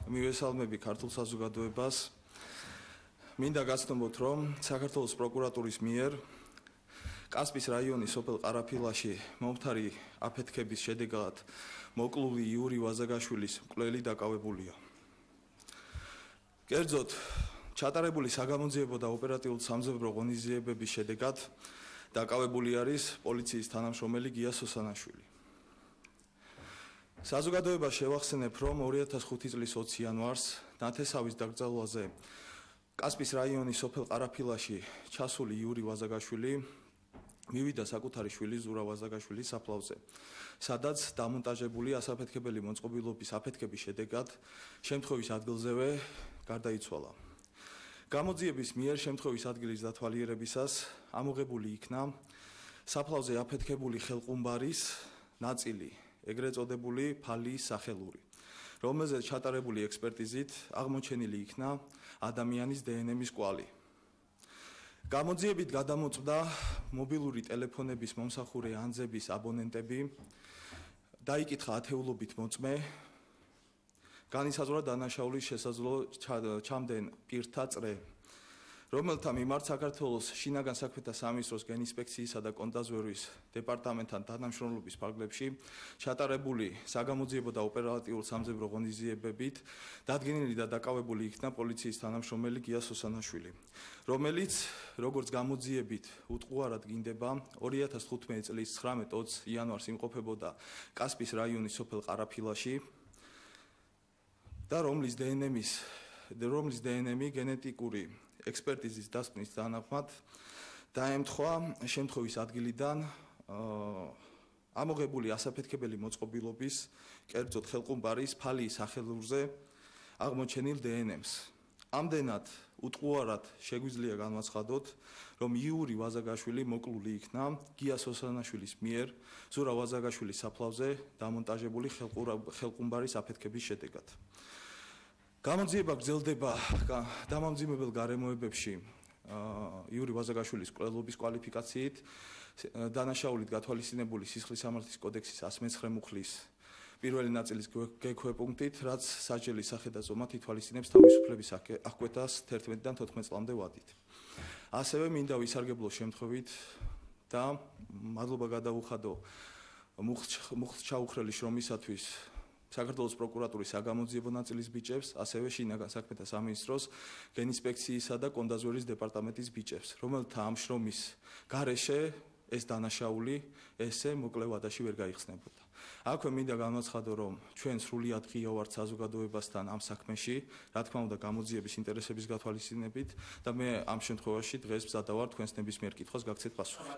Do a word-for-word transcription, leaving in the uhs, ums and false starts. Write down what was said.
მივესალმები ქართულ საზოგადოებას. მინდა გაცნობოთ, რომ საქართველოს პროკურატურის მიერ კასპის რაიონის სოფელ ყარაფილაში მომხდარი აფეთქების შედეგად მოკლული იური ვაზაგაშვილის მკვლელი დაკავებულია. კერძოდ, ჩატარებული საგამოძიებო და ოპერატიულ-სამძებრო ღონისძიებების შედეგად დაკავებული არის პოლიციის თანამშრომელი გია სოსანაშვილი. საზოგადოებას შევახსენებ, რომ ორი ათას ხუთი წლის ოცი იანვარს ნათესავის დაკრძალვაზე კასპის რაიონის სოფელ ყარაფილაში ჩასული იური ვაზაგაშვილი მივიდა საკუთარი შვილის ზურა ვაზაგაშვილის საფლავზე, სადაც დამონტაჟებული ასაფეთქებელი მოწყობილობის აფეთქების შედეგად შემთხვევის ადგილზევე გარდაიცვალა. გამოძიების მიერ შემთხვევის ადგილის დათვალიერებისას ამოღებული იქნა საფლავზე აფეთქებული ხელყუმბარის ნაწილი, ეგრეთ წოდებული ფალიის სახელური, რომელზეც ჩატარებული ექსპერტიზით აღმოჩენილი იქნა ადამიანის დნმ-ის კვალი. გამოძიებით გადამოწმდა მობილური ტელეფონების მომსახურე ანძების აბონენტები, დაიკითხა ათეულობით მოწმე, განისაზღვრა დანაშაულის შესაძლო ჩამდენ პირთა წრე, რომელთა მიმართ საქართველოს შინაგან საქმეთა სამინისტროს გენინსპექციისა და კონტრაზვერვის დეპარტამენტთან თანამშრომლობის ფარგლებში ჩატარებული საგამოძიებო და ოპერატიულ-სამძებრო ღონისძიებებით დადგენილი და დაკავებული იქნა პოლიციის თანამშრომელი გია სოსანაშვილი, რომელიც, როგორც გამოძიებით უტყუარად გინდება, ორი ათას თხუთმეტი წლის ცხრამეტ ოცი იანვარს იმყოფებოდა კასპის რაიონის სოფელ ყარაფილაში და რომლის დნმ-ის რომლის დნმ გენეტიკური ექსპერტიზის დასკვნის თანახმად დაემთხვა შემთხვევის ადგილიდან ამოღებული ასაფეთქებელი მოწყობილობის, კერძოდ ხელყუმბარის ფალიის სახელურზე აღმოჩენილ დნმ-ს. ამდენად უტყუარად შეგვიძლია განვაცხადოთ, რომ იური ვაზაგაშვილი მოკლული იქნა გია სოსანაშვილის მიერ ზურა ვაზაგაშვილის საფლავზე დამონტაჟებული ხელყუმბარის აფეთქების შედეგად. გამოძიება გრძელდება დამამძიმებელ გარემოებებში იური ვაზაგაშვილის მკვლელობის კვალიფიკაციით, დანაშაულით გათვალისწინებული სისხლის სამართლის კოდექსის εκατს მეცხრე მუხლის პირველი ნაწილის გექვეპუნქტით, რაც სასჯელის სახე და ზომა ითვალისწინებს თავისუფლების აღკვეთას თერთმეტიდან თოთხმეტ წლამდე ვადით. ასევე მინდა ვისარგებლო შემთხვევით და მადლობა გადავუხადო მუხლს ჩაუხრელი შრომისათვის საქართველოს პროკურატურის საგამოძიებო ნაწილის ბიჭებს, ასევე შინაგან საქმეთა სამინისტროს გენინსპექციისა და კონტრაზვერვის დეპარტამენტის ბიჭებს, რომელთა ამ შრომის გარეშე ეს დანაშაული ესე მოკლე ვადაში ვერ გაიხსნებოდა. აქვე მინდა განვაცხადო, რომ ჩვენ სრულიად ღია ვართ საზოგადოებასთან ამ საქმეში, რა თქმა უნდა, გამოძიების ინტერესების გათვალისწინებით და მე ამ შემთხვევაში დღეს მზადა ვარ თქვენს ნებისმიერ კითხვას გაგცეთ პასუხი.